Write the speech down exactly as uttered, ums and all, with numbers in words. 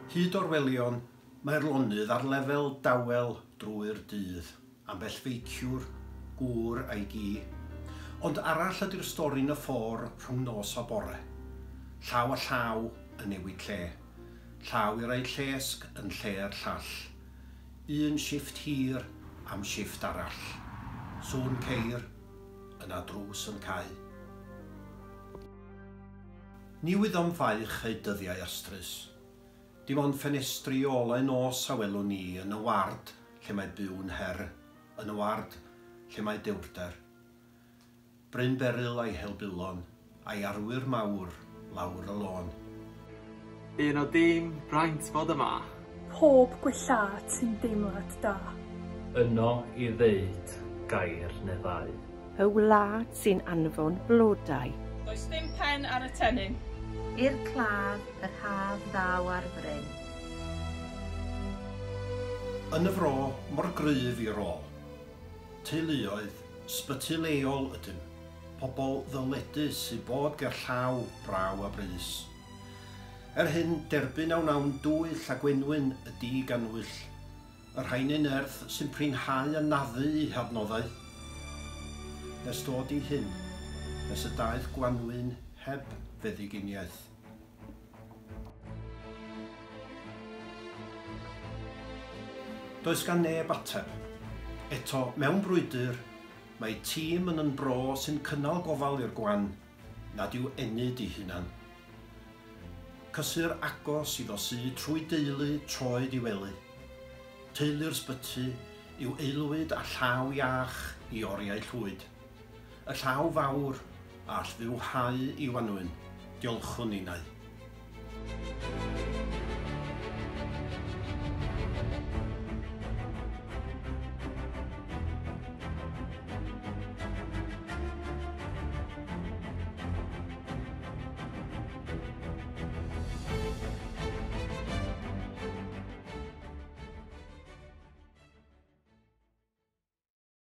Hyd orwelion, mae'r lonydd ar lefel dawel drwy'r dydd, ambell feiciwr, gŵr a'i gi. Ond arall ydy'r stori yn y ffordd rhwng nos a bore. Llaw a llaw yn newid lle. Llaw i rai llesg yn lle'r llall. Un shifft hir am shifft arall. Sŵn ceir, yna drws yn cau. Ni wyddom faich eu dyddiau astrus. Dim ond ffenestri olau nos a welwn ni yn y ward lle mae byw'n her, yn y ward lle mae dewrder. Bryn Beryl a'i helbulon, a'i arwyr mawr lawr y lôn. Un o dîm braint fod yma. Pob gwellhad sy'n deimlad da. Yno i ddeud gair neu ddau. Y wlad sy'n anfon blodau. Does dim pen ar y tennyn. I'r claf, yr haf ddaw ar fryn. Yn y fro, mor gryf i'r ôl. Teuluoedd, sbyty leol ydym. Pobl ddyledus sy'n bod ger llaw, braw a brys. Er hyn, derbyn a wnawn dwyll a gwenwyn y diganwyll. Y rhain yn erth sy'n prinhau a naddu i hadnoddau. Nes dod i hyn, nes y daeth gwanwyn heb feddyginiaeth. Does gan neb ateb. Eto, mewn brwydr, mae tîm yn yn bro sy'n cynnal gofal i'r gwan, nad yw ennyd i hunan. Cysur agos iddo sy trwy deulu troed i wely. Teulu'r sbyty yw aelwyd a llaw iach i oriau llwyd. Y llaw fawr a all fywhau i wanwyn, diolchwn ninnau.